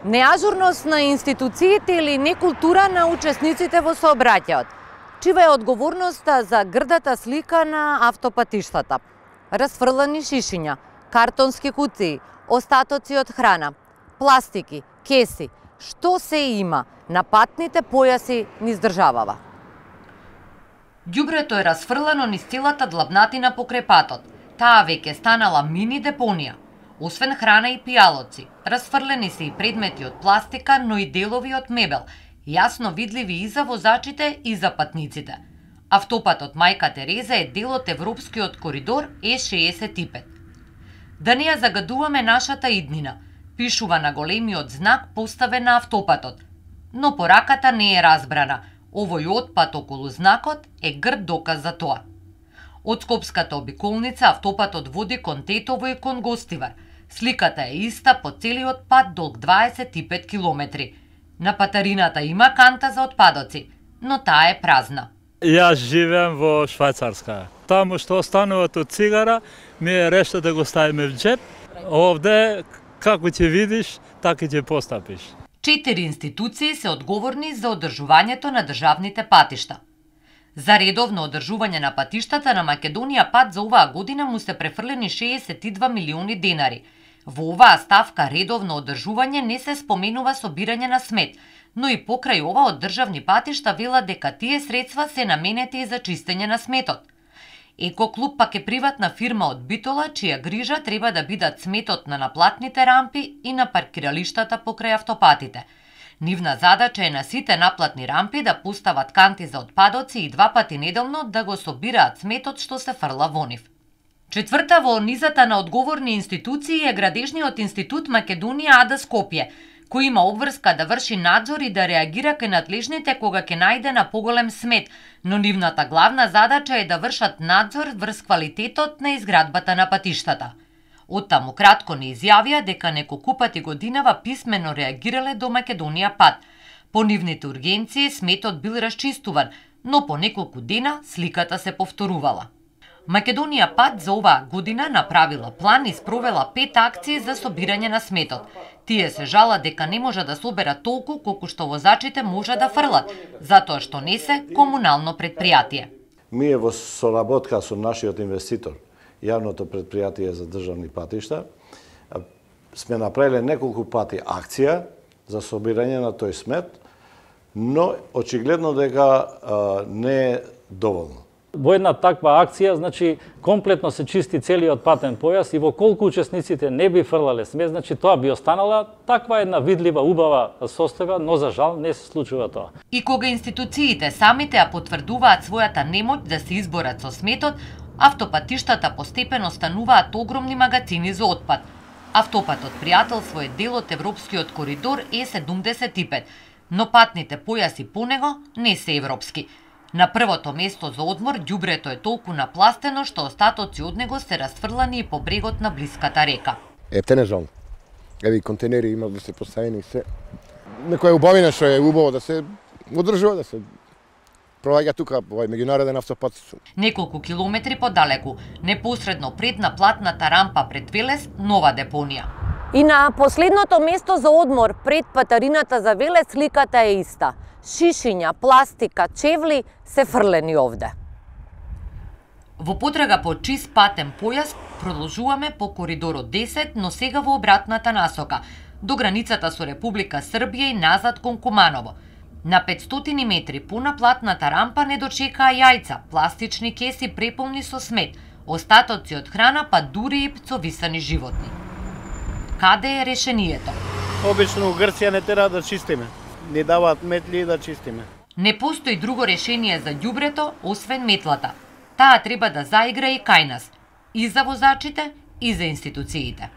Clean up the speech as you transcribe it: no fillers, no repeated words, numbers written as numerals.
Неажурност на институциите или некултура на учесниците во сообраќајот? Чива е одговорноста за грдата слика на автопатиштата? Расфрлани шишиња, картонски куции, остатоци од храна, пластики, кеси, што се има на патните појаси низ државава? Ѓубрето е расфрлано низ целата длабнатина покрај патот. Таа веќе станала мини депонија. Освен храна и пијалоци, расфрлени се и предмети од пластика, но и делови од мебел, јасно видливи и за возачите и за патниците. Автопатот Мајка Тереза е дел од европскиот коридор Е65. Да не ја загадуваме нашата иднина, пишува на големиот знак поставен на автопатот. Но пораката не е разбрана. Овој отпад околу знакот е грд доказ за тоа. Од Скопската обиколница автопатот води кон Тетово и кон Гостивар. Сликата е иста по целиот пат долг 25 километри. На патарината има канта за отпадоци, но таа е празна. Јас живеам во Швајцарска. Таму што остануват од цигара, ми е решта да го ставиме в джеп. Овде, како ќе видиш, така ќе постапиш. 4 институции се одговорни за одржувањето на државните патишта. За редовно одржување на патиштата на Македонија пат за оваа година му се префрлени 62 милиони денари. Во оваа ставка редовно одржување не се споменува собирање на смет, но и покрај ова од државни патишта велат дека тие средства се наменети и за чистење на сметот. Екоклуб пак е приватна фирма од Битола, чија грижа треба да бидат сметот на наплатните рампи и на паркиралиштата покрај автопатите. Нивна задача е на сите наплатни рампи да постават канти за отпадоци и 2 пати неделно да го собираат сметот што се фрла во нив. Четврта во низата на одговорни институции е Градежниот институт Македонија АД Скопје, кој има обврска да врши надзор и да реагира кај надлежните кога ќе најде на поголем смет, но нивната главна задача е да вршат надзор врз квалитетот на изградбата на патиштата. Оттаму кратко не изјавија дека неколку пати годинава писмено реагирале до Македонија пат. По нивните ургенции сметот бил расчистуван, но по неколку дена сликата се повторувала. Македонија пат за оваа година направила план и спровела 5 акции за собирање на сметот. Тие се жала дека не може да соберат толку колку што возачите може да фрлат, затоа што не се комунално предпријатие. Ние во соработка со нашиот инвеститор, јавното предпријатие за државни патишта, сме направиле неколку пати акција за собирање на тој смет, но очигледно дека не е доволно. Во една таква акција, значи, комплетно се чисти целиот патен појас и во колку учесниците не би фрлале смет, значи тоа би останала таква една видлива, убава состојба, но за жал не се случува тоа. И кога институциите самите ја потврдуваат својата немоќ да се изборат со сметот, автопатиштата постепено стануваат огромни магазини за отпад. Автопатот пријателство е дел од европскиот коридор Е75, но патните појаси по него не се европски. На првото место за одмор ѓубрето е толку напластено што остатоци од него се расфрлани и по брегот на блиската река. Те не жал. Еви контейнери има да се поставени се. Некоја убавина што е убаво да се одржува, да се проваѓа тука овој меѓународен автопат. Неколку километри подалеку, непосредно пред наплатната рампа пред Велес, нова депонија. И на последното место за одмор пред патарината за Велес сликата е иста. Шишиња, пластика, чевли се фрлени овде. Во потрага по чист патен појас продолжуваме по коридорот 10, но сега во обратната насока, до границата со Република Србија и назад кон Куманово. На 500 метри по наплатната рампа не дочекаа јајца, пластични кеси преполни со смет, остатоци од храна, па дури и пцовисани животни. Каде е решението? Обично Грција не тера да чистиме. Не даваат метли да чистиме. Не постои друго решение за ѓубрето освен метлата. Таа треба да заигра и кај нас, и за возачите, и за институциите.